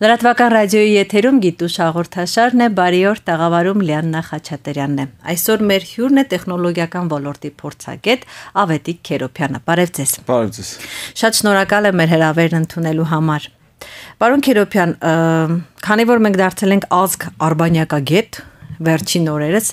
Լրատվական ռադիոյի եթերում գիտուշ հաղորդաշարն է, բարի օր, տաղավարում Լիաննա Խաչատրյանն է։ Այսօր մեր հյուրն է տեխնոլոգիական ոլորտի փորձագետ Ավետիք Քերոբյանը։ Բարև ձեզ։ Բարև ձեզ։ Շատ շնորհակալ եմ մեր հրավերն ընդունելու համար։ Պարոն Քերոբյան, քանի որ մենք դարձել ենք ազգ արբանյակագետ, վերջին օրերս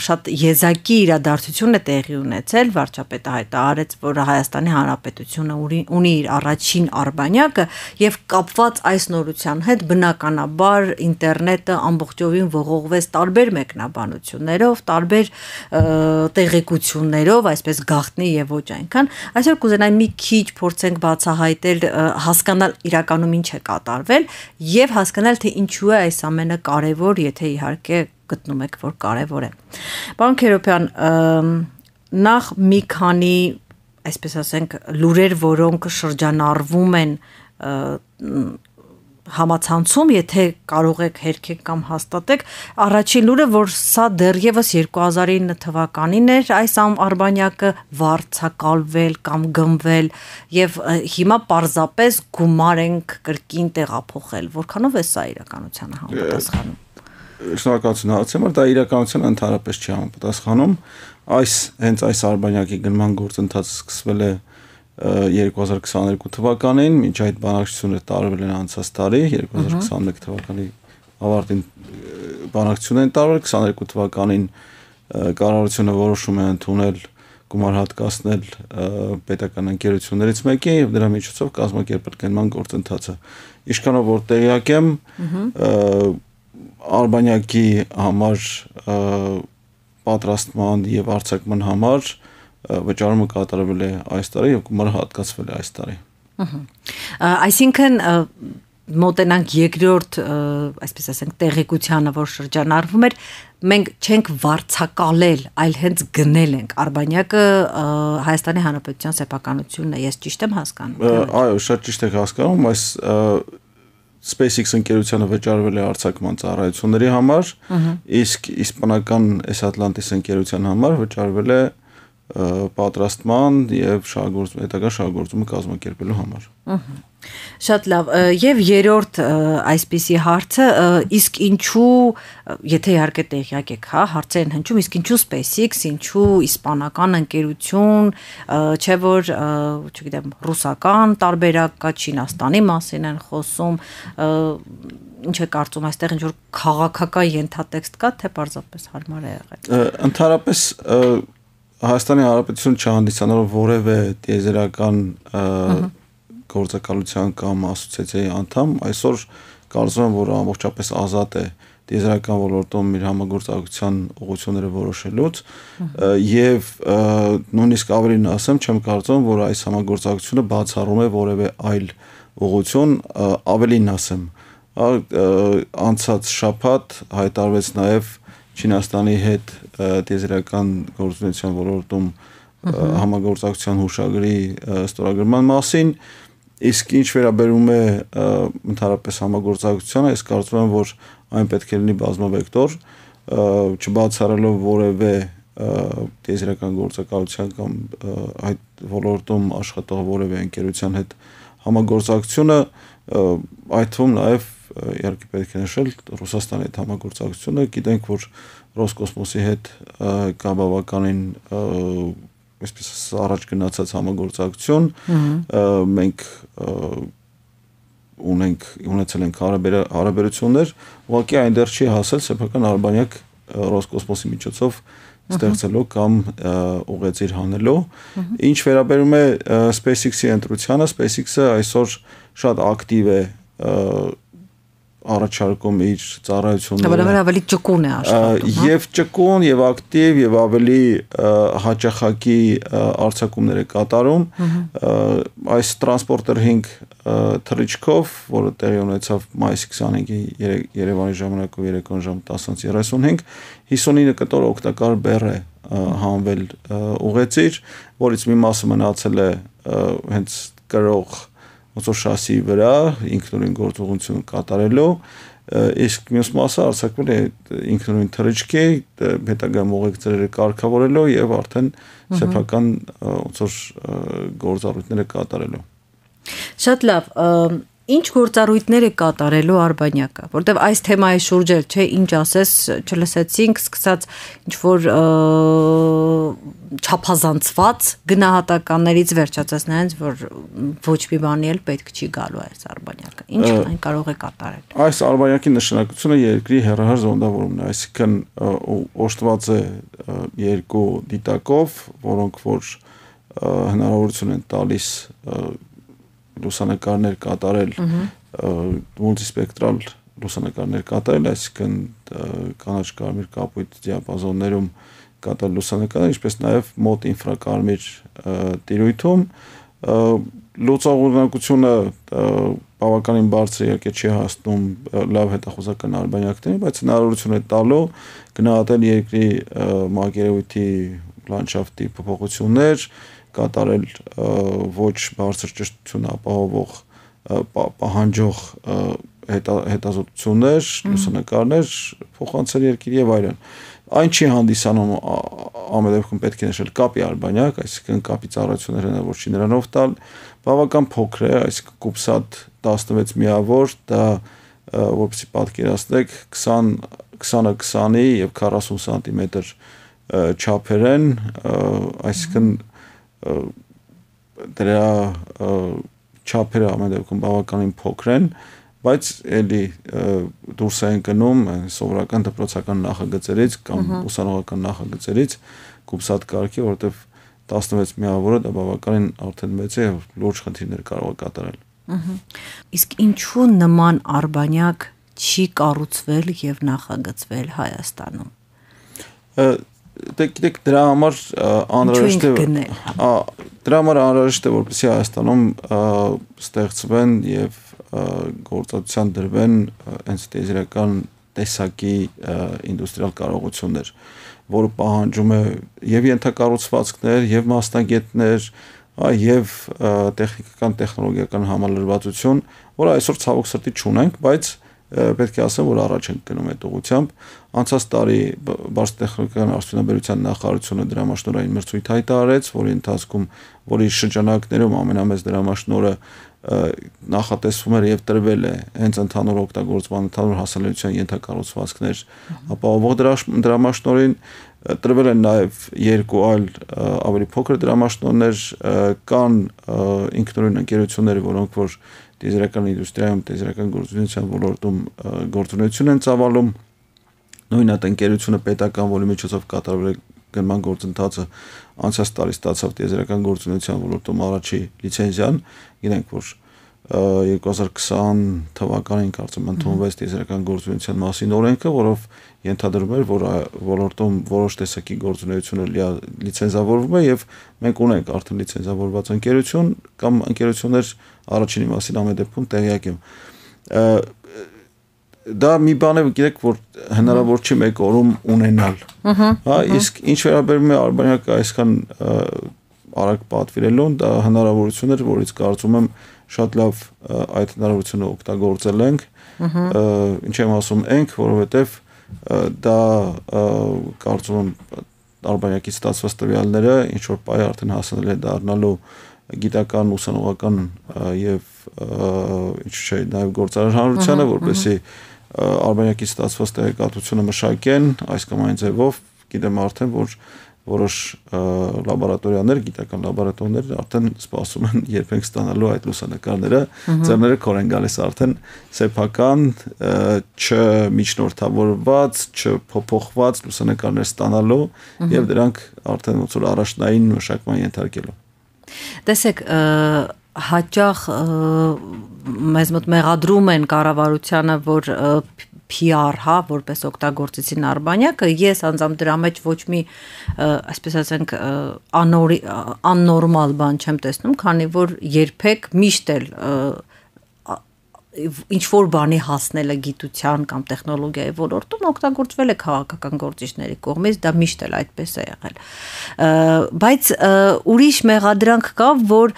շատ եզակի իրադարձություն է տեղի ունեցել, վարչապետը հայտարարեց, որ Հայաստանի Հանրապետությունը ունի իր առաջին արբանյակը եւ կապված այս նորության հետ բնականաբար ինտերնետը ամբողջովին ողողվեց տարբեր մեկնաբանություններով, տարբեր տեղեկություններով, այսպես գաղտնի եւ ոչ այնքան։ Այսօր կուզենայի մի քիչ փորձենք բացահայտել, հասկանալ իրականում ինչ է կատարվել եւ հասկանալ թե ինչու է այս ամենը կարեւոր, եթե իհարկե գտնում եք, որ կարևոր է։ Պարոն Քերոբյան, նախ մի քանի, այսպես ասենք, լուրեր, որոնք շրջանառվում են համացանցում, եթե կարող եք հերքեք կամ հաստատեք, առաջին լուրը, որ սա դեռևս 2009 թվականին էր այս արբանյակը վարձակալվել կամ գնվել եւ հիմա պարզապես գումար ենք կրկին տեղափոխել։ Որքանով է սա իրականությանը համապատասխանում։ Շնորհակալություն հարցին, որ դա իրականության ընդհանրապես չի համապատասխանում։ Հենց այս արբանյակի գնման գործընթացը սկսվել է 2022 թվականին, մինչ այդ բանակցությունը տարվել են անցած տարի, 2021 թվականի ավարտին բանակցությունն են տարվել, 22 թվականին կառավարությունը որոշում է ընդունել գումար հատկացնել պետական ընկերություններից մեկին եւ դրա միջոցով կազմակերպել գնման գործընթացը։ Ինչքանով որ տեղյակ եմ, արբանյակի համար պատրաստման եւ արձակման համար վճարումը կատարվել է այս տարի եւ գումարը հատկացվել է այս տարի։ Այսինքն մոտենանք երկրորդ, այսպես ասենք, տեղեկությանը, որ շրջանառվում էր, մենք չենք վարձակալել, այլ հենց գնել ենք արբանյակը Հայաստանի Հանրապետության սեփականությունն է, ես ճիշտ եմ հասկանում։ Այո, շատ ճիշտ եք հասկանում, այս SpaceX ընկերությանը վճարվել է արձակման ծառայությունների համար, իսկ իսպանական S-Atlantis ընկերության համար վճարվել է պատրաստման եւ հետագա շահագործումը կազմակերպելու համար։ Շատ լավ, եւ երրորդ այսպիսի հարցը, իսկ ինչու, եթե իհարկե տեղյակ եք, հա, հարցեր են հնչում, իսկ ինչու SpaceX, ինչու իսպանական ընկերություն, չէ որ, չգիտեմ, ռուսական տարբերակ կա, Չինաստանի մասին են խոսում, ինչ է կարծում այստեղ ինչ որ քաղաքական ենթատեքստ կա, թե պարզապես հարմար է եղել։ Ընդհանրապես Հայաստանի Հանրապետություն չհանդիսանալով որևէ տիեզերական գործակալության կամ ասոցիացիայի անդամ, այսօր կարծում եմ, որ ամբողջապես ազատ է տիեզերական ոլորտում իր համագործակցության ուղղությունները որոշելուց եւ նույնիսկ ավելին ասեմ, չեմ կարծում, որ այս համագործակցությունը բացառում է որևէ այլ ուղղություն, ավելին ասեմ, անցած շաբաթ հայտարարվեց նաեւ Չինաստանի հետ տիեզերական գործունեության ոլորտում համագործակցության հուշագրի ստորագրման մասին, իսկ ինչ վերաբերում է ընդհանրապես համագործակցությանը, ես կարծում եմ, որ այն պետք է լինի բազմավեկտոր, չբացառելով որևէ տիեզերական գործակալության կամ այդ ոլորտում աշխատող որևէ ընկերության հետ համագործակցությունը, այդ թվում նաև իհարկե պետք է նշել Ռուսաստանի հետ համագործակցությունը, գիտենք, որ Ռոսկոսմոսի հետ կա բավականին այսպես առաջ գնացած համագործակցություն, մենք ունեցել ենք հարաբերություններ, ուղղակի այնտեղ չի հասել սեփական արբանյակ Ռոսկոսմոսի միջոցով ստեղծելու կամ ուղեծիր հանելու։ Ինչ վերաբերում է SpaceX-ի ընտրությանը, SpaceX-ը այսօր շատ ակտիվ է առաջարկում իր ծառայությունները, ավելի ճկուն է աշխատում, եւ ճկուն եւ ակտիվ եւ ավելի հաճախակի արձակումներ է կատարում, այս Transporter 5 թռիչքով, որը տեղի ունեցավ մայիսի 25-ի Երևանի ժամանակով երեկոյան ժամը 10:35, 59 կտոր օգտակար բեռ է հանվել ուղեծիր, որից մի մասը մնացել է հենց կրող ոնց շասի վրա ինքնուրույն գործողություն կատարելու, իսկ մյուս մասը արձակվել է ինքնուրույն թռիչքի, հետագա ուղեկցերը կարգավորելու եւ արդեն սեփական ոնց գործառույթները կատարելու։ Շատ լավ, Ինչ գործառույթներ է կատարելու Արբանյակը, որտեվ այս թեմայի շուրջ էլ, չէ, ինչ ասես, չլսեցինք, սկսած ինչ որ չափազանցված գնահատականներից վերջացած նրանց, որ ոչ մի բանի էլ պետք չի գալու այս Արբանյակը։ Ինչ այն կարող է կատարել։ Այս Արբանյակի նշանակությունը երկրի հեռահար զոնդավորումն է, այսինքն օժտված է երկու դիտակով, որոնք որ հնարավորություն են տալիս լուսանկարներ կատարել մուլտիսպեկտրալ լուսանկարներ կատարել, այսինքն կանաչ կարմիր կապույտ դիապազոններում կատարել լուսանկարներ, ինչպես նաև մոտ ինֆրակարմիր տիրույթում լուծողունակությունը բավականին բարձր իհարկե չի հասնում լավ հետախուզական արբանյակներին, բայց հնարավորություն է տալու գնահատել երկրի մակերևույթի լանդշաֆտի փոփոխություններ, կատարել ոչ բարձր ճշտություն ապահովող պահանջող հետազոտություններ, լուսանկարներ, փոխանցել երկիր եւ այլն։ Այն չի հանդիսանում ամեն դեպքում պետք է նշել կապի արբանյակ, այսինքն կապի ծառայությունները հնարավոր չի նրանով տալ, բավական փոքր է, այսինքն կուբսատ 16 միավոր, դա որպեսզի պատկերացնեք 20-20-ի եւ 40 սանտիմետր չափեր են, այսինքն դրա չափերը ամեն դեպքում բավականին փոքր են, բայց էլի դուրս են գնում սովորական դպրոցական նախագծերից կամ ուսանողական նախագծերից կուբսատ կարգի, որովհետև 16 միավորը դա բավականին արդեն մեծ է, լուրջ խնդիրներ կարող է կատարել։ Իսկ ինչու նման արբանյակ չի կառուցվել եւ նախագծվել Հայաստանում։ Գիտեք, դրա համար անհրաժեշտ է, որպեսզի Հայաստանում ստեղծվեն եւ գործածության դրվեն հենց տիեզերական տեսակի ինդուստրիալ կարողություններ, որը պահանջում է եւ ենթակառուցվածքներ, եւ մասնագետներ, եւ տեխնիկական տեխնոլոգիական համալրվածություն, որը այսօր ցավոք սրտի չունենք, բայց պետք է ասեմ, որ առաջ ենք գնում այդ ուղղությամբ։ Անցած տարի բարձր տեխնոլոգիական արդյունաբերության նախարարությունը դրամաշնորհային մրցույթ հայտարարեց, որի ընթացքում, որի շրջանակներում ամենամեծ դրամաշնորհը նախատեսվում էր եւ տրվել է հենց ընդհանուր օգտագործման, ընդհանուր հասանելիության ենթակառուցվածքներ ապահովող դրամաշնորհին, տրվել են նաեւ երկու այլ ավելի փոքր դրամաշնորհներ, կան ինքնուրույն ընկերություններ, որոնք որ տիեզերական ինդուստրիայում, տիեզերական գործունեության ոլորտում գործունեություն են ծավալում, նույն այդ ընկերությունը պետական, որի միջոցով կատարվել է գնման գործընթացը, անցած տարի ստացավ տիեզերական գործունեության ոլորտում առաջի լիցենզիան, գիտենք, որ 2020 թվականին կարծեմ ընդունվեց տիեզերական գործունեության մասին օրենքը, որով ենթադրում էր, որ ոլորտում որոշ տեսակի գործունեությունը լիցենզավորվում է եւ մենք ունենք արդեն լիցենզավորված ընկերություն կամ ընկերություններ առաջինի մասին ամեն դեպքում տեղյակ եմ։ Դա մի բան է, գիտեք, որ հնարավոր չի մեկ օրում ունենալ։ Հա, իսկ ինչ վերաբերում է արբանյակը այսքան արագ պատվիրելուն, դա հնարավորություն էր, որից կարծում եմ շատ լավ այդ հնարավորությունը օգտագործել ենք։ Ինչ եմ ասում ենք, որովհետև դա կարծում եմ արբանյակից ստացված տվյալները ինչ որ պայ արդեն հասանել է դառնալու գիտական, ուսանողական եւ ինչ չէ, նաեւ գործարար հանրությանը, որպեսզի արբանյակից ստացված տեղեկատվությունը մշակեն այս կամ այն ձևով, գիտեմ արդեն, որ որոշ լաբորատորիաներ, գիտական լաբորատորիաներ արդեն սպասում են երբ ենք ստանալու այդ լուսանկարները, ձեռները քոր են գալիս արդեն սեփական, չմիջնորդավորված, չփոփոխված լուսանկարներ ստանալու եւ դրանք արդեն ոնց որ առաջնային մշակման ենթարկելու։ Տեսեք, հաճախ մեզ մոտ մեղադրում են կառավարությանը, որ PR, հա, որպես օգտագործեցին արբանյակը, ես անձամբ դրա մեջ ոչ մի, այսպես ասենք, աննորմալ բան չեմ տեսնում, քանի որ երբեք միշտ էլ ինչ որ բանի հասնելը գիտության կամ տեխնոլոգիայի ոլորտում օգտագործվել է քաղաքական գործիչների կողմից, դա միշտ էլ այդպես է եղել։ Բայց ուրիշ մեղադրանք կա, որ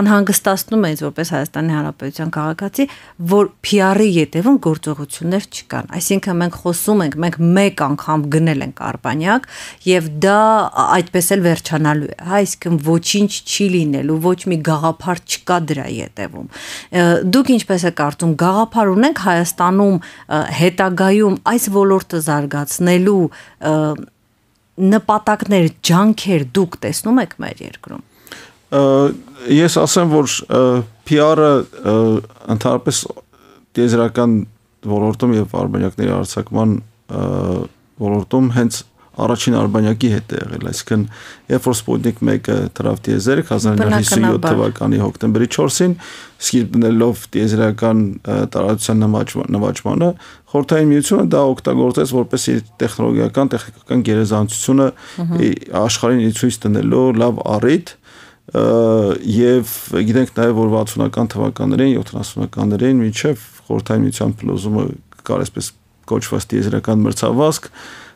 անհանգստացնում է ինձ որպես Հայաստանի Հանրապետության քաղաքացի, որ PR-ի ետևում գործողություններ չկան։ Այսինքն մենք խոսում ենք, մենք մեկ անգամ գնել ենք Արբանյակ եւ դա այդպես էլ վերջանալու է, հա, այսինքն ոչինչ չի լինելու, ոչ մի գաղափար չկա դրա ետևում։ Դուք ինչպես եք կարծում, գաղափար ունենք Հայաստանում հետագայում այս ոլորտը զարգացնելու նպատակներ, ջանքեր դուք տեսնում եք մեր երկրում։ Ես ասեմ, որ PR-ը ընդհանրապես տիեզերական ոլորտում եւ արբանյակների արձակման ոլորտում հենց առաջին արբանյակի հետ է եղել, այսինքն երբ որ Sputnik 1-ը թռավ տիեզերք 1957 թվականի հոկտեմբերի 4-ին, սկիզբ դնելով տիեզերական տարածության նվաճմանը, Խորհրդային Միությունը դա օգտագործեց որպես իր տեխնոլոգիական գերազանցությունը աշխարհին ցույց տնելու լավ առիթ, եւ գիտենք նաեւ որ 60-ական թվականներին, 70-ականներին մինչեւ Խորհրդային Միության փլուզումը կար այսպես կոչված տիեզերական մրցավազք,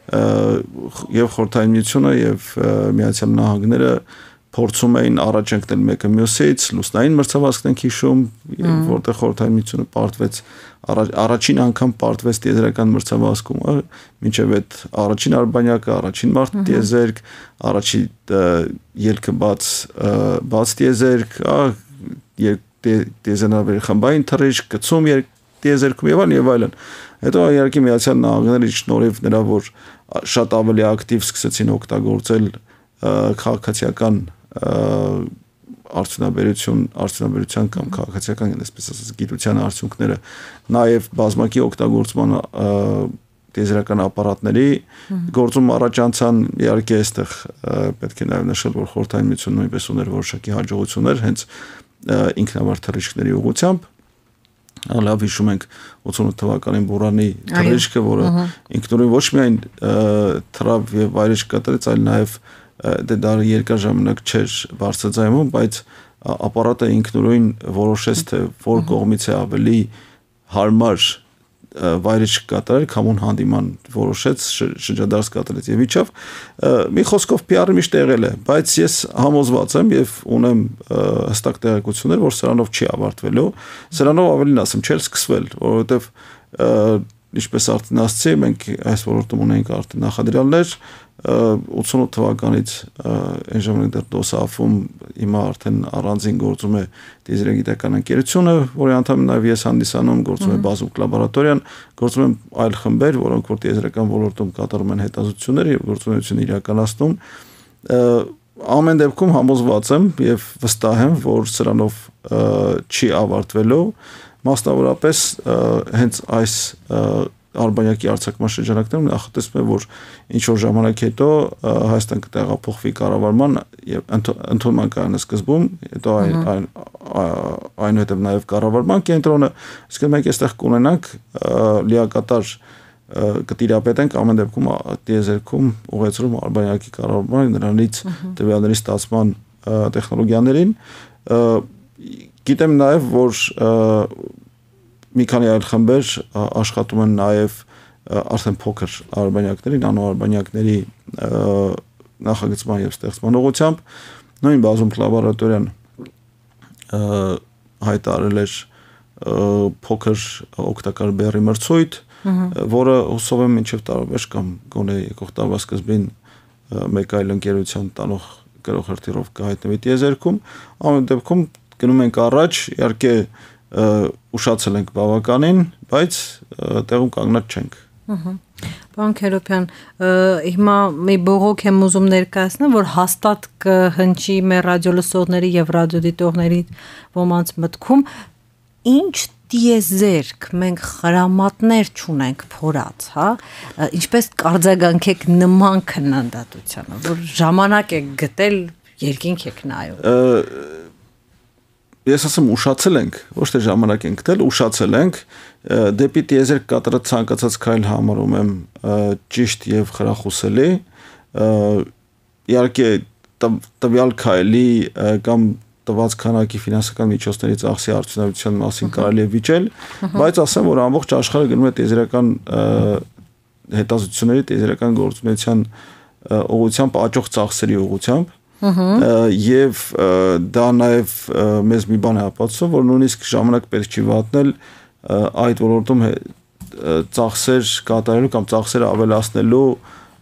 եւ Խորհրդային Միությունը եւ Միացյալ Նահանգները փորձում էին առաջ ընկնել մեկը մյուսից, լուսնային մրցավազքն ենք հիշում, որտեղ Խորհրդային Միությունը պարտվեց առաջին անգամ պարտվեց տիեզերական մրցավազքում, մինչև այդ առաջին արբանյակը, առաջին մարդ տիեզերք, առաջին ելքը բաց տիեզերք, տիեզերնավերի խմբային թռիչք, գցում տիեզերքում եւ այլն։ Հետո իհարկե Միացյալ Նահանգների շնորհիվ նրա որ շատ ավելի ակտիվ սկսեցին օգտագործել քաղաքացիական արդյունաբերության կամ քաղաքացիական այսպես ասած գիտության արդյունքները նաև բազմակի օգտագործման տիեզերական ապարատների գործում առաջանցան իհարկե այստեղ պետք է նաև նշել որ Խորհրդային Միությունը նույնպես ուներ որոշակի հաջողություններ հենց ինքնավար թռիչքների ուղղությամբ լավ հիշում ենք 88 թվականին Բուրանի թռիչքը, որը ինքնուրույն ոչ միայն թռավ եւ վայրէջք կատարեց, այլ նաեւ դա երկար ժամանակ չէր բարձրաձայնում, բայց ապարատը ինքնուրույն որոշեց թե որ կողմից է ավելի հարմար վայրէջք կատարել, քամուն հանդիման որոշեց, շրջադարձ կատարեց եւ իջավ։ Մի խոսքով PR-ը միշտ եղել է, բայց ես համոզված եմ եւ ունեմ հստակ տեղեկություններ, որ սրանով չի ավարտվելու, սրանով ավելին ասեմ, չէր սկսվել, որովհետեւ ինչպես արդեն ասացի, մենք այս ոլորտում ունենք արդեն նախադրյալներ 88 թվականից այն ժամանակ դեռ DOSAF-ում հիմա արդեն առանձին գործում է տիեզերագիտական ընկերությունը, որի անդամ նաև ես հանդիսանում, գործում է Բազուկ լաբորատորիան, գործում են այլ խմբեր, որոնք որ տիեզերական ոլորտում կատարում են հետազոտություններ եւ գործունեություն իրականացնում։ Ամեն դեպքում համոզված եմ եւ վստահ եմ, որ սրանով չի ավարտվելու, մասնավորապես հենց այս արբանյակի արձակման շրջանակներում նախատեսվում է, որ ինչ որ ժամանակ հետո Հայաստան կտեղափոխվի կառավարման եւ ընդունման կայանը սկզբում, հետո այնուհետև նաեւ կառավարման կենտրոնը, իսկ մենք այստեղ կունենանք լիակատար կտիրապետենք ամեն դեպքում տիեզերքում ուղեցրում արբանյակի կառավարման նրանից տվյալների ստացման տեխնոլոգիաներին գիտեմ նաև որ մի քանի այլ խմբեր աշխատում են նաև արդեն փոքր արբանյակների, նանո արբանյակների նախագծման եւ ստեղծման ուղղությամբ նույն Բազում լաբորատորիան հայտարարել էր փոքր օգտակար բեռի մրցույթ, որը հուսով եմ մինչև տարեվերջ կամ գոնե եկող տարվա սկզբին մեկ այլ ընկերության տանող գրող հրթիռով կհայտնվի տիեզերքում, ամեն դեպքում գնում ենք առաջ, իհարկե ուշացել ենք բավականին, բայց տեղում կանգնած չենք։ Պարոն Քերոբյան, հիմա մի բողոք եմ ուզում ներկայացնել, որ հաստատ կհնչի մեր ռադիոլսողների եւ ռադիոդիտողների ոմանց մտքում, ինչ տիեզերք, մենք խրամատներ չունենք փորած, հա, ինչպես կարձագանքեք նման քննադատությանը, որ ժամանակ եք գտել, երկինք եք նայում։ Ես ասեմ ուշացել ենք, ոչ թե ժամանակ ենք գտել, ուշացել ենք, դեպի տիեզերք կատարած ցանկացած քայլ համարում եմ ճիշտ եւ խրախուսելի, իհարկե տվյալ քայլի կամ տված քանակի ֆինանսական միջոցների ծախսի արդյունավետության մասին կարելի է վիճել, բայց ասեմ, որ ամբողջ աշխարհը գնում է տիեզերական հետազոտությունների, տիեզերական գործունեության ուղղությամբ աճող ծախսերի ուղղությամբ եւ դա նաեւ մեզ մի բան է ապացուցում, որ նույնիսկ ժամանակ պետք չի վատնել այդ ոլորտում ծախսեր կատարելու կամ ծախսերը ավելացնելու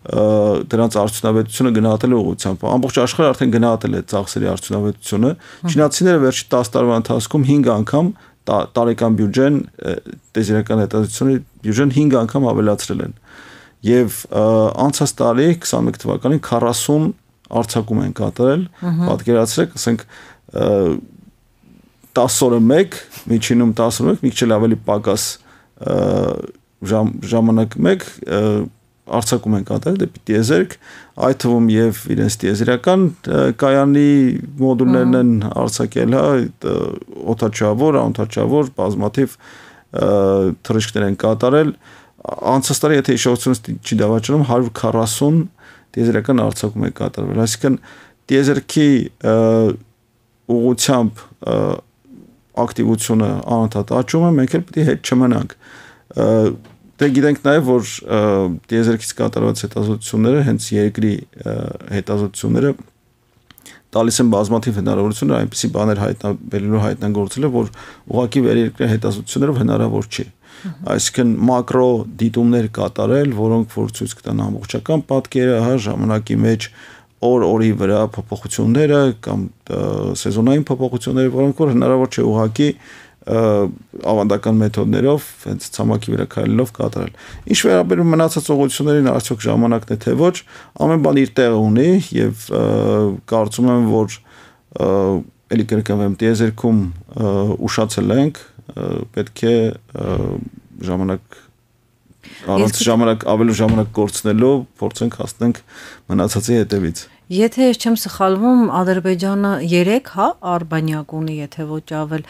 դրանց արդյունավետությունը գնահատելու ուղղությամբ ամբողջ աշխարհը արդեն գնահատել է ծախսերի արդյունավետությունը չինացիները վերջի 10 տարվա ընթացքում 5 անգամ տարեկան բյուջեն տիեզերական հետազոտությունների բյուջեն 5 անգամ ավելացրել են եւ անցած տարի 21 թվականին 40 արձակում են կատարել պատկերացրեք ասենք 10 օրը 1 միջինում 10 օրը 1 մի քիչ ավելի պակաս ժամանակ 1 արձակում են կատարել դեպի տիեզերք, այդ թվում եւ իրենց տիեզերական կայանի մոդուլներն են արձակել, օդաչավոր, անօդաչավոր, բազմաթիվ թռիչքներ են կատարել։ Անցած տարի, եթե հիշողությունս չի դավաճանում, 140 տիեզերական արձակում է կատարվել։ Այսինքն տիեզերքի ուղղությամբ ակտիվությունը անընդհատ աճում է, մենք էլ պետք է հետ չմնանք։ Դե գիտենք նաև, որ տիեզերքից կատարված հետազոտությունները, հենց երկրի հետազոտությունները տալիս են բազմաթիվ հնարավորություններ, այնպիսի բաներ հայտնագործել, որ ուղղակի վերերկրյա հետազոտություններով հնարավոր չի։ Այսինքն մակրո դիտումներ կատարել, որոնք որ ցույց կտան ամբողջական պատկերը, ժամանակի մեջ օր-օրի վրա փոփոխությունները կամ սեզոնային փոփոխությունները, որոնք որ հնարավոր չէ ուղղակի ավանդական մեթոդներով, հենց ցամաքի վրա քայլելով կատարել։ Ինչ վերաբերում մնացած ուղղություններին, արդյոք ժամանակն է թե ոչ, ամեն բան իր տեղը ունի եւ կարծում եմ, որ ելի կրկնվեմ, տիեզերքում ուշացել ենք, պետք է ավելի ժամանակ կորցնելով փորձենք հասնենք մնացածի հետևից։ Եթե ես չեմ սխալվում, Ադրբեջանը 3 արբանյակ ունի, եթե ոչ ավել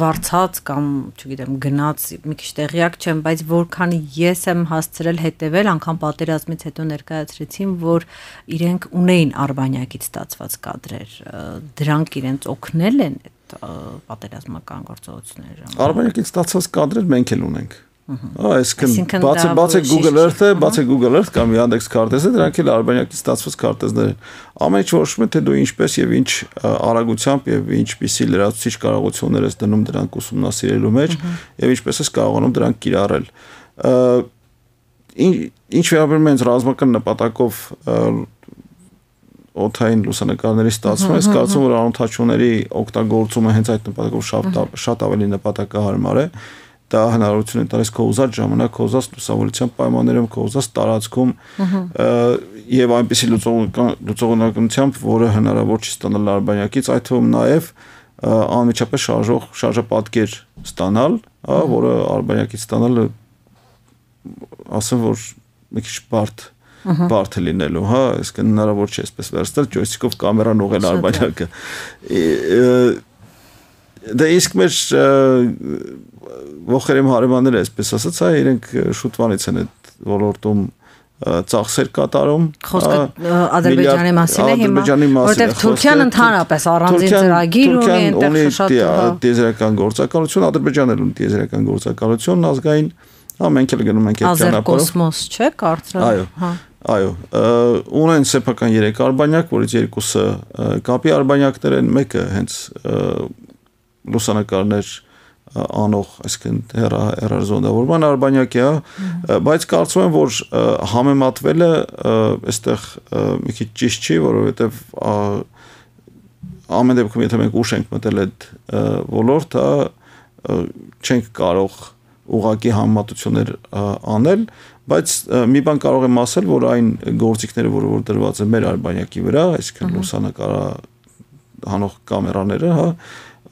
վարձած կամ, չգիտեմ, գնաց, մի քիչ տեղյակ չեմ, բայց որքան ես եմ հասցրել հետևել, անգամ պատերազմից հետո ներկայացրեցին, որ իրենք ունեին արբանյակից ստացված կադրեր, դրանք իրենց օգնել են այդ պատերազմական գործողությունների։ Արբանյակից ստացված կադրեր մենք էլ ունենք։ Այսինքն բացեք Google Earth-ը, բացեք Google Earth կամ Yandex քարտեզը, դրանք էլ արբանյակից ստացված քարտեզներ են։ Ամեն ինչ որոշում է, թե դու ինչպես եւ ինչ արագությամբ եւ ինչպիսի լրացուցիչ կարողություններ ես դնում դրանք ուսումնասիրելու մեջ եւ ինչպես ես կարողանում դրանք կիրառել։ Ինչ վերաբերում է ռազմական նպատակով օդային լուսանկարների ստացումը, ես կարծում եմ, որ անօդաչուների օգտագործումը հենց այդ նպատակով շատ ավելի նպատակահարմար է։ Դա հնարավորություն է տալիս քո ուզած ժամանակ, քո ուզած լուսավորության պայմաններում, քո ուզած տարածքում եւ այնպիսի լուծողությունությամբ, որը հնարավոր չի ստանալ արբանյակից, այդ թվում նաեւ անմիջապես շարժապատկեր ստանալ, որը արբանյակից ստանալը ասեմ, որ մի քիչ բարդ է լինելու, այսինքն հնարավոր չէ այսպես վերցնել ջոյստիկով կամերան ուղղել արբանյակը։ Դա իսկ մեր ողերեմ հարևանները, այսպես ասած, իրենք շուտվանից են այդ ոլորտում ծախսեր կատարում։ Խոսքը Ադրբեջանի մասին է հիմա, որտեղ Թուրքիան ընդհանրապես առանձին ծրագիր ունի, այնտեղ շատ տիեզերական գործակալություն, Ադրբեջանն ունի տիեզերական գործակալություն ազգային, մենք էլ գնում ենք այդ ճանապարհով։ Ազերկոսմոս, չէ՞, կարծրալ։ Այո, ունեն սեփական 3 արբանյակ, որից 2-ը կապի արբանյակներ են, մեկը հենց լուսանկարներ անող, այսինքն հեռարձոնավորման արբանյակ է, բայց կարծում եմ, որ համեմատվելը այստեղ մի քիչ ճիշտ չի, որովհետև ամեն դեպքում եթե մենք ուշ ենք մտել այդ ոլորտ, չենք կարող ուղղակի համեմատություններ անել, բայց մի բան կարող եմ ասել, որ այն գործիքները, որ դրված են մեր արբանյակի վրա, այսինքն լուսանկարահանող կամերաները,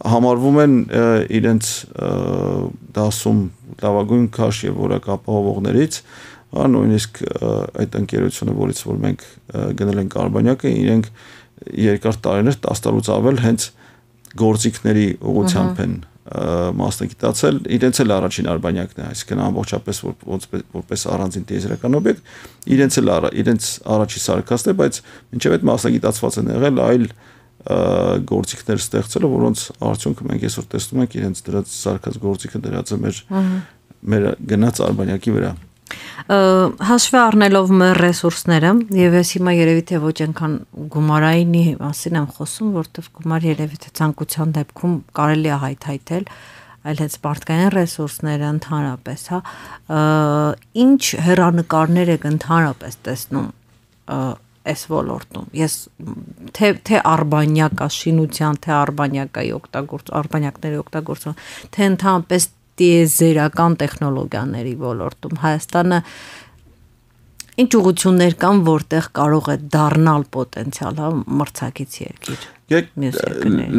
համարվում են իրենց դասում լավագույն քաշ եւ որակ ապահովողներից, նույնիսկ այդ ընկերությունը, որից որ մենք գնել ենք արբանյակը, իրենք երկար տարիներ 10 տարուց ավել հենց գործիքների ուղղությամբ են մասնագիտացել, իրենց էլ առաջին արբանյակն է, այսինքն ամբողջապես որպես առանձին տիեզերական օբյեկտ, իրենց առաջի սարքածն է, բայց մինչև այդ մասնագիտացված են եղել այլ գործիքներ ստեղծելը, որոնց արդյունքը մենք այսօր տեսնում ենք իրենց դրած սարքած գործիքը դրած է մեր գնաց արբանյակի վրա։ Հաշվի առնելով մեր ռեսուրսները, եւ ես հիմա երևի թե ոչ այնքան գումարայինի մասին եմ խոսում, որտեղ գումար երևի թե ցանկության դեպքում կարելի է հայթայթել, այլ հենց մարդկային ռեսուրսները ընդհանրապես, հա, ինչ հեռանկարներ եք ընդհանրապես տեսնում այս ոլորտում։ Ես թե արբանյակա շինության, թե արբանյակների օգտագործում, թե ընդհանրապես տիեզերական տեխնոլոգիաների ոլորտում Հայաստանը ինչ ուղղություններ կան, որտեղ կարող է դառնալ պոտենցիալ, հա, մրցակից երկիր։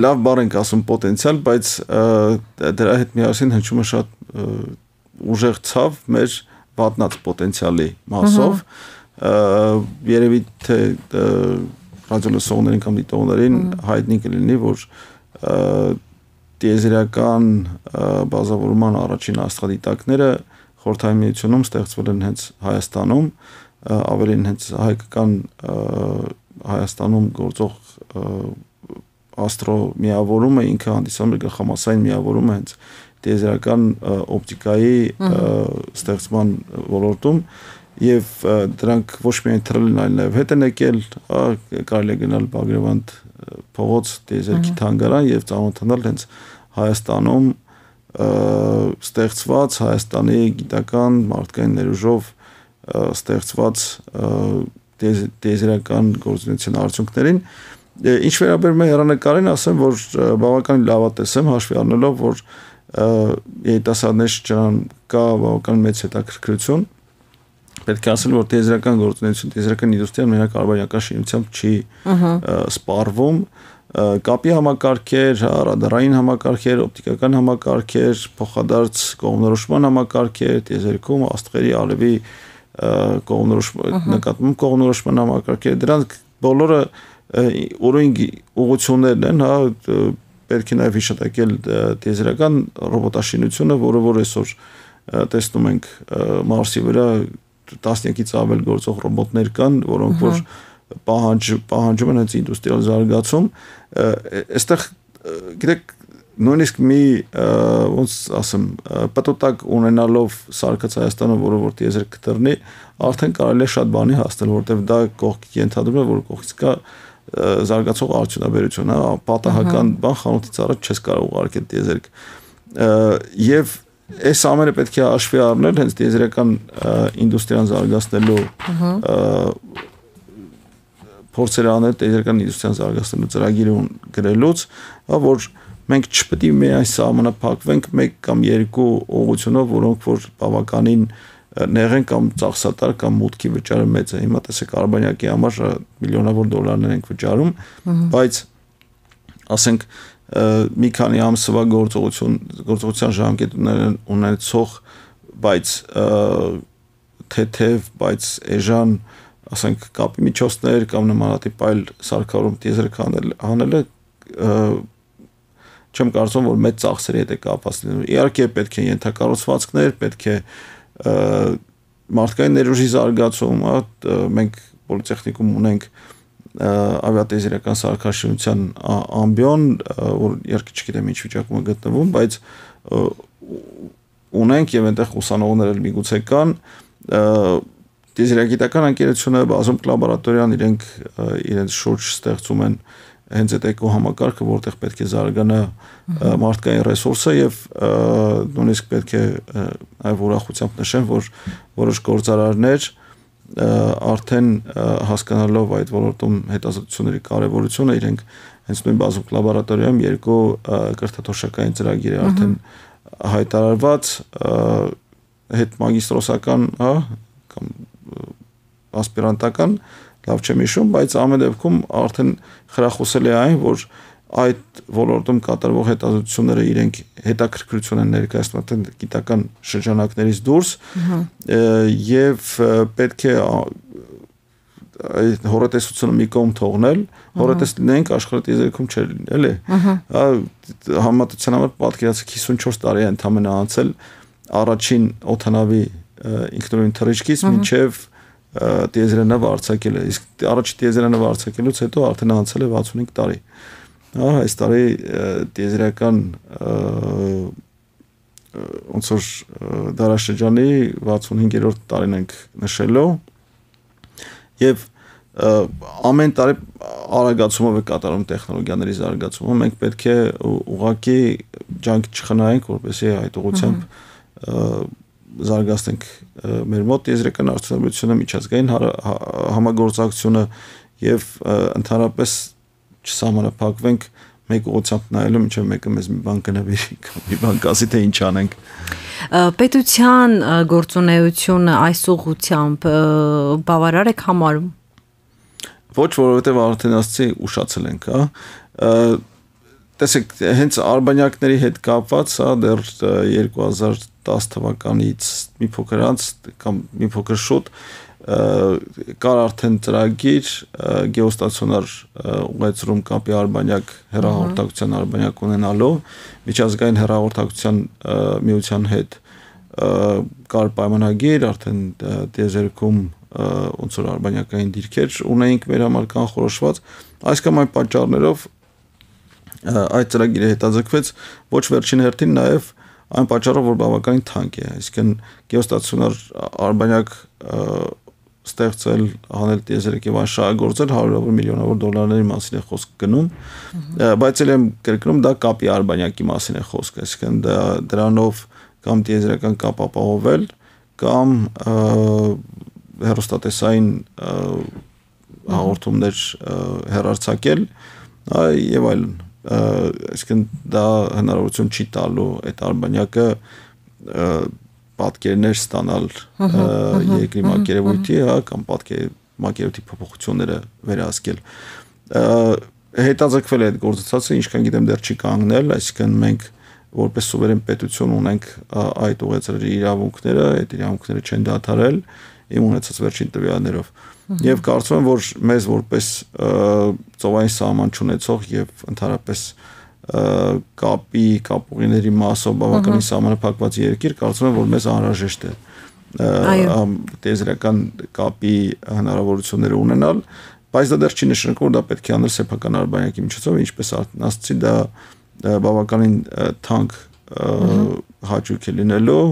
Լավ բառ ենք ասում պոտենցիալ, բայց դրա հետ միասին հնչում է շատ ուժեղ ցավ մեր վատնած պոտենցիալի մասով։ Երևի թե ռադիոլսողներին կամ դիտողներին հայտնի կլինի, որ տիեզերական բազավորման առաջին աստղադիտակները Խորհրդային Միությունում ստեղծվել են հենց Հայաստանում, ավելին հենց հայկական Հայաստանում գործող աստրոմիավորումը ինքը հանդիսանում է գլխամասային միավորումը հենց տիեզերական օպտիկայի ստեղծման ոլորտում եւ դրանք ոչ միայն թռել են, այլ նաեւ հետ են եկել, կարելի է գնալ Բագրևանդ փողոց տիեզերքի թանգարան եւ ծանոթանալ հենց Հայաստանում ստեղծված Հայաստանի գիտական մարդկային ներուժով ստեղծված տիեզերական գործունեության արդյունքներին։ Ինչ վերաբերում է հեռանկարին, ասեմ, որ բավականին լավատես եմ, հաշվի առնելով, որ երիտասարդների շրջանում կա բավական մեծ հետաքրքրություն։ Պետք է ասել, որ տիեզերական գործունեություն, տիեզերական ինդուստրիան մենակ արբանյակային շինությամբ չի սպառվում, կապի համակարգեր, ռադարային համակարգեր, օպտիկական համակարգեր, փոխադարձ կողմնորոշման համակարգեր, տիեզերքում աստղերի արևի նկատմամբ կողմնորոշման համակարգեր, դրանք բոլորը օրինք ուղղություններն են, հա, պետք է նաև հիշատակել տիեզերական ռոբոտաշինությունը, որը այսօր տեսնում ենք Մարսի վրա տասնյակից ավել գործող ռոբոտներ կան, որոնք որ պահանջում են հենց ինդուստրիալ զարգացում, այստեղ գիտեք նույնիսկ մի ոնց ասեմ պատոտակ ունենալով սարքած Հայաստանը, որը որ տիեզեր կտրնի, արդեն կարելի է շատ բանի հասնել, որտեղ դա կողքի ենթադրում է, որ կողքից կա զարգացող արդյունաբերություն, հա, պատահական բան խանութից առաջ չես կարող ուղարկել տիեզերք։ Եվ այս ամենը պետք է հաշվի առնել հենց տիեզերական ինդուստրիան զարգացնելու փորձեր անել տիեզերական ինդուստրիան զարգացնելու ծրագիրը գրելուց, որ մենք չպետք է միայն սահմանափակվենք մեկ կամ երկու ուղղությունով, որոնք որ բավականին նեղ են կամ ծախսատար կամ մուտքի վճարը մեծ է։ Հիմա տեսեք արբանյակի համար միլիոնավոր դոլարներ ենք վճարում, բայց ասենք մի քանի ամսվա գործողության ժամկետ ունեցող, բայց թեթև, բայց էժան, ասենք կապի միջոցներ կամ նմանատիպ այլ սարքավորում տիեզերք հանելը չեմ կարծում, որ մեծ ծախսերի հետ է կապված լինում։ Իհարկե պետք է ենթակառուցվածքներ, պետք է մարդկային ներուժի զարգացում, մենք պոլիտեխնիկում ունենք ավիատիեզերական սարքաշինության ամբիոն, որ իհարկե չգիտեմ ինչ վիճակում է գտնվում, բայց ունենք եւ այնտեղ ուսանողներ էլ միգուցե կան, տիեզերագիտական ընկերությունը բազում լաբորատորիան իրենց շուրջ ստեղծում են հենց այդ էկոհամակարգը, որտեղ պետք է զարգանա մարդկային ռեսուրսը եւ նույնիսկ պետք է այլ ուրախությամբ նշեմ, որ որոշ գործարարներ արդեն հասկանալով այդ ոլորտում հետազոտությունների կարևորությունը իրենք հենց նույն բազում լաբորատորիայում երկու կրթաթոշակային ծրագիր է արդեն հայտարարված հետ մագիստրոսական, հա, կամ ասպիրանտական լավ չեմ հիշում, բայց ամեն դեպքում արդեն խրախուսել է այն, որ այդ ոլորտում կատարվող հետազոտությունները իրենք հետաքրքրություն են ներկայացնում գիտական շրջանակներից դուրս եւ պետք է հորատեսությունը մի կողմ թողնել, հորատես լինենք աշխարհի տիեզերքում չէր լինի, էլի։ Համատության համար պատկերացրեք 54 տարի է ընդամենը անցել առաջին օդանավի ինքնուրույն թռիչքից մինչև տիեզերանով արձակել է։ Իսկ առաջի տիեզերանով արձակելուց հետո արդեն անցել է 65 տարի։ Այս տարի տիեզերական ոնց որ դարաշրջանի 65-րդ տարին ենք նշելու եւ ամեն տարի արագացումով է կատարում տեխնոլոգիաների զարգացումը։ Մենք պետք է ուղղակի ջանք չխնայենք, որպեսզի այդ ուղղությամբ զարգացնենք մեր մոտ տիեզերական արդյունաբերությունը, միջազգային համագործակցությունը եւ ընդհանրապես չսահմանափակվենք մեկ ուղղությամբ նայելու, մինչև մեկը մեզ մի բան կնվիրի կամ մի բան կասի, թե ինչ անենք։ Պետության գործունեությունը այս ուղղությամբ բավարար եք համարում։ Ոչ, որովհետև արդեն ասացի ուշացել ենք, տեսեք, հենց արբանյակների հետ կապված, դեռ 2010 թվականից մի փոքր անց կամ մի փոքր շուտ կար արդեն ծրագիր գեոստացիոնար ուղղեցրում կապի արբանյակ հեռահաղորդակցության արբանյակ ունենալու միջազգային հեռահաղորդակցության միության հետ կար պայմանագիր արդեն տիեզերքում ոնց որ արբանյակային դիրքեր ունեինք մեր համար կանխորոշված այս կամ այն պատճառներով այդ ծրագիրը հետաձգվեց ոչ վերջին հերթին նաև այն պատճառով որ բավականին թանկ է այսինքն գեոստացիոնար արբանյակ ստեղծել հանել տիեզերք եւ աշխարհագործել հարյուրավոր միլիոնավոր դոլարների մասին է խոսք գնում բայց էլ եմ կրկնում դա կապի արբանյակի մասին է խոսք այսինքն դրանով կամ տիեզերական կապ ապահովել կամ հեռուստատեսային հաղորդումներ հեռարձակել եւ այլն այսինքն դա հնարավորություն չի տալու այդ արբանյակը պատկերներ ստանալ երկրի մակերևույթի, կամ մակերևույթի փոփոխությունները վերահսկել։ Հետաձգվել է այդ գործընթացը, ինչքան գիտեմ դեռ չի կանգնել, այսինքն մենք որպես սուվերեն պետություն ունենք այդ ուղեցրերի իրավունքները, այդ իրավունքները չեն դադարել իմ ունեցած վերջին տվյալներով։ Եվ կարծում եմ, որ մեզ որպես ծովային սահման չունեցող եւ ընդհանրապես կապուղիների մասով բավականին սահմանափակված երկիր կարծում եմ որ մեզ անհրաժեշտ է տիեզերական կապի հնարավորությունները ունենալ բայց դա դեռ չի նշանակում որ դա պետք է անել սեփական արբանյակի միջոցով ինչպես ասացի դա բավականին թանկ հաճույք է լինելու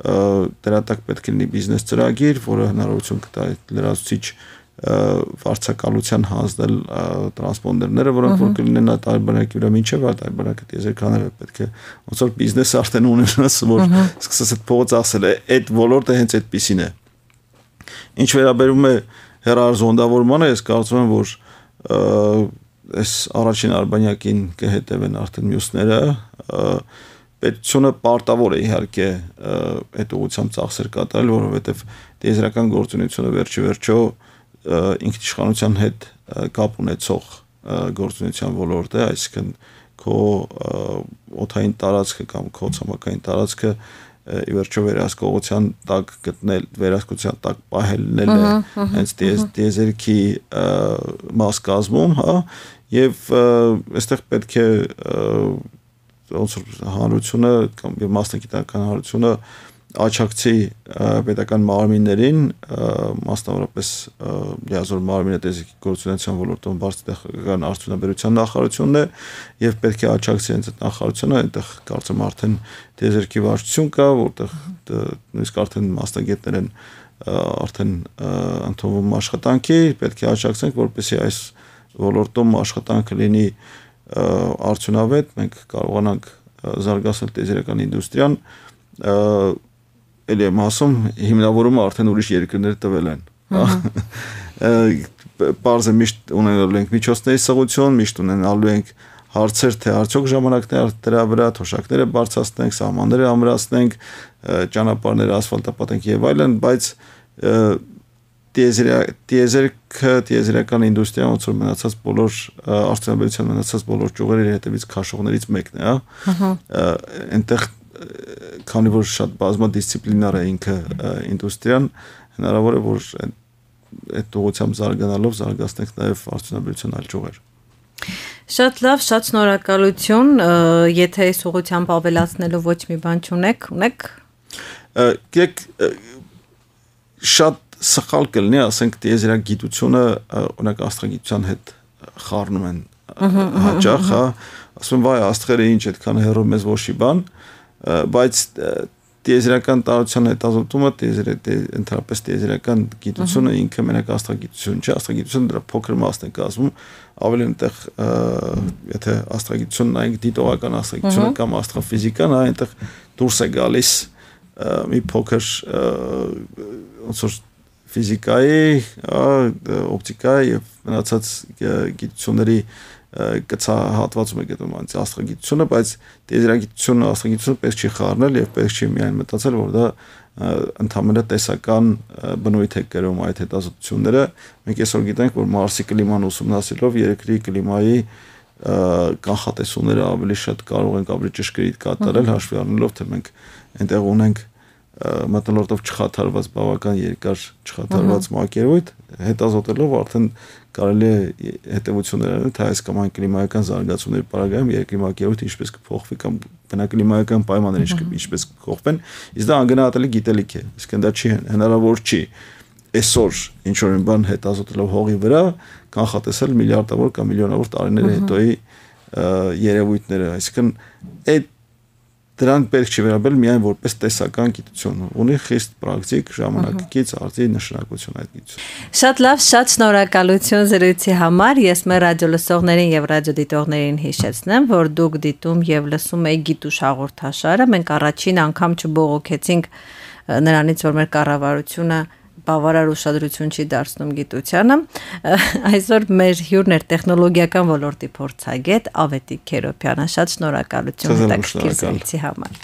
դրա տակ պետք է լինի բիզնես ծրագիր որը հնարավորություն կտա լրացուցիչ վարձակալության հանձնել տրանսպոնդերները, որոնք որ կլինեն այդ արբանյակի վրա մինչև այդ արբանյակը տիեզերքաները պետք է ոնց որ բիզնես արդեն ունենաս, որ սկսես այդ փողոց ասել է, այդ ոլորտը հենց այդպեսին է։ Ինչ վերաբերում է հեռարձոնդավորմանը, ես կարծում եմ, որ այս առաջին արբանյակին կհետևեն արդեն մյուսները, պետությունը պարտավոր է իհարկե այդ ուղղությամբ ծախսեր կատարել, որովհետև տիեզերական գործունեությունը վերջիվերջո ինքնիշխանության հետ կապ ունեցող գործունեության ոլորտ է, այսինքն քո օդային տարածքը կամ քո ցամաքային տարածքը ի վերջո վերահսկողության տակ գտնել, վերահսկողության տակ պահելն է հենց տիեզերքի մաս կազմում, հա, եւ այստեղ պետք է ոնց որ հանրությունը կամ մասնագիտական հանրությունը աչակցի պետական մարմիններին, մասնավորապես լիազոր մարմինը տիեզերքի գործունեության ոլորտում բարձրաստիճան արդյունաբերության նախարարությունն է եւ պետք է աչակցի հենց այդ նախարարությունը, այնտեղ կարծեմ արդեն տիեզերքի վարչություն կա, որտեղ նույնիսկ արդեն մասնագետներ են արդեն ընդունվում աշխատանքի, պետք է աչակցենք, որպեսզի այս ոլորտում աշխատանքը լինի արդյունավետ, մենք կարողանանք զարգացնել տիեզերական ինդուստրիան, էլի եմ ասում, հիմնավորումը արդեն ուրիշ երկրներ տվել են։ Պարզ է միշտ ունենալու ենք միջոցների սղություն, միշտ ունենալու ենք հարցեր, թե արդյոք ժամանակներ դրա վրա թոշակները բարձրացնենք, սահմանները ամրացնենք, ճանապարհները ասֆալտապատենք եւ այլն, բայց տիեզերական ինդուստրիան ոնց որ մնացած բոլոր արդյունաբերության մնացած բոլոր ճյուղերի հետևից քաշողներից մեկն է, հա։ Այնտեղ քանի որ շատ բազմադիսցիպլինար է ինքը ինդուստրիան, հնարավոր է որ այդ ուղղությամբ զարգանալով զարգացնենք նաև արդյունաբերության այլ ճյուղեր։ Շատ լավ, շատ շնորհակալություն, եթե այս ուղղությամբ ավելացնելու ոչ մի բան չունեք, ունեք։ Գիտեք, շատ սխալ կլինի, ասենք տիեզերագիտությունը օրինակ աստղագիտության հետ խառնում են հաճախ, հա, ասում վայ աստղերը ինչ այդքան հեռու մեզ ոչի բան, բայց տիեզերական տարածության հետազոտումը, ընդհանրապես տիեզերական գիտությունը ինքը մենակ աստղագիտություն չէ, աստղագիտությունը դրա փոքր մասն է կազմում, ավելի այնտեղ եթե աստղագիտությունն նայենք դիտողական աստղագիտությունը կամ աստղաֆիզիկան, այնտեղ դուրս է գալիս մի փոքր ոնց որ ֆիզիկայի, օպտիկայի եւ մնացած գիտությունների կցահատվածում է գտնվում անց աստղագիտությունը, բայց տիեզերագիտությունը աստղագիտությունը պետք չի խառնել եւ պետք չի միայն մտածել, որ դա ընդհանրապես տեսական բնույթ է կրում այդ հետազոտությունները։ Մենք այսօր գիտենք, որ Մարսի կլիման ուսումնասիրելով երկրի կլիմայի կանխատեսումները ավելի շատ կարող ենք ավելի ճշգրիտ կատարել, հաշվի առնելով, թե մենք այնտեղ ունենք մթնոլորտով չխաթարված բավական երկար չխաթարված մակերույթ, հետազոտելով արդեն կարելի է հետևություններ անել, թե այս կամ այն կլիմայական զարգացումների պարագայում երկրի մակերույթը ինչպես կփոխվի կամ բնակլիմայական պայմանները ինչպես կփոխվեն, իսկ դա անգնահատելի գիտելիք է, իսկ դա չի հնարավոր չի այսօր ինչ որ բան հետազոտելով հողի վրա կանխատեսել միլիարդավոր կամ միլիոնավոր տարիներ հետոյի երևույթները, այսինքն այդ դրանք պետք չի վերաբերել միայն որպես տեսական գիտություն, ունի խիստ պրակտիկ ժամանակակից արդի նշանակություն այդ գիտությունը։ Շատ լավ, շատ շնորհակալություն զրույցի համար։ Ես մեր ռադիոլսողներին եւ ռադիոդիտողներին հիշեցնեմ, որ դուք դիտում եւ լսում եք Գիտուշ հաղորդաշարը։ Մենք առաջին անգամ չբողոքեցինք նրանից, որ մեր կառավարությունը բավարար ուշադրություն չի դարձնում գիտությանը։ Այսօր մեր հյուրն էր տեխնոլոգիական ոլորտի փորձագետ Ավետիք Քերոբյանը։ Շատ շնորհակալություն հետաքրքիր զրույցի համար։